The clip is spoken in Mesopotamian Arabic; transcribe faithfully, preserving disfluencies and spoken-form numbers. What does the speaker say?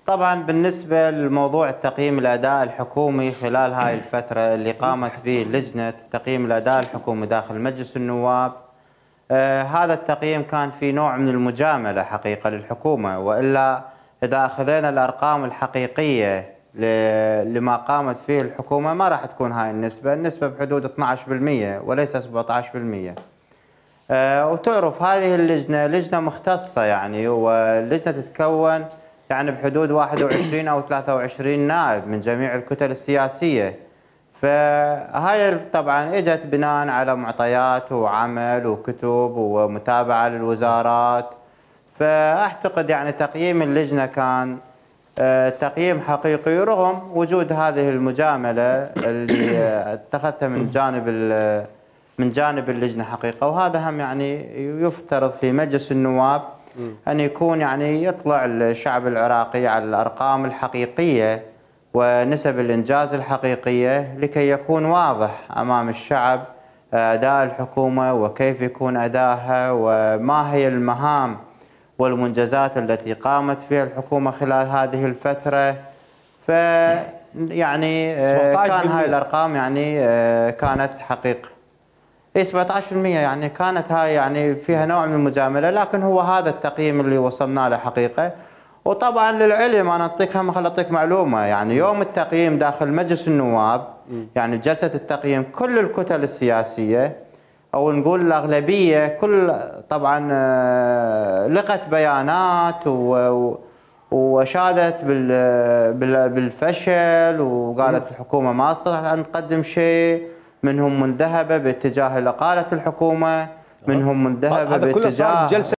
طبعا بالنسبة لموضوع التقييم الأداء الحكومي خلال هاي الفترة اللي قامت به لجنة تقييم الأداء الحكومي داخل مجلس النواب، آه هذا التقييم كان في نوع من المجاملة حقيقة للحكومة، وإلا إذا أخذنا الأرقام الحقيقية لما قامت فيه الحكومة ما راح تكون هاي النسبة، النسبة بحدود اثناعش بالمئة وليس سبعطعش بالمئة. آه وتعرف هذه اللجنة لجنة مختصة يعني، واللجنة تتكون يعني بحدود واحد وعشرين أو ثلاثة وعشرين نائب من جميع الكتل السياسية. فهاي طبعا اجت بناء على معطيات وعمل وكتب ومتابعة للوزارات. فأعتقد يعني تقييم اللجنة كان تقييم حقيقي رغم وجود هذه المجاملة اللي اتخذتها من جانب من جانب اللجنة حقيقة. وهذا هم يعني يفترض في مجلس النواب أن يكون يعني يطلع الشعب العراقي على الأرقام الحقيقية ونسب الإنجاز الحقيقية لكي يكون واضح أمام الشعب أداء الحكومة وكيف يكون أداءها وما هي المهام والمنجزات التي قامت فيها الحكومة خلال هذه الفترة. ف يعني كان هاي الأرقام يعني كانت حقيقة. اي سبعطعش بالمئة يعني كانت هاي يعني فيها نوع من المجاملة، لكن هو هذا التقييم اللي وصلنا له حقيقة. وطبعا للعلم انا اعطيك هم خل اعطيك معلومة، يعني يوم التقييم داخل مجلس النواب يعني جلسة التقييم كل الكتل السياسية او نقول الاغلبية كل طبعا لقت بيانات وشادت بالفشل وقالت الحكومة ما استطاعت ان تقدم شيء، منهم من ذهب باتجاه اقالة الحكومة، منهم من ذهب باتجاه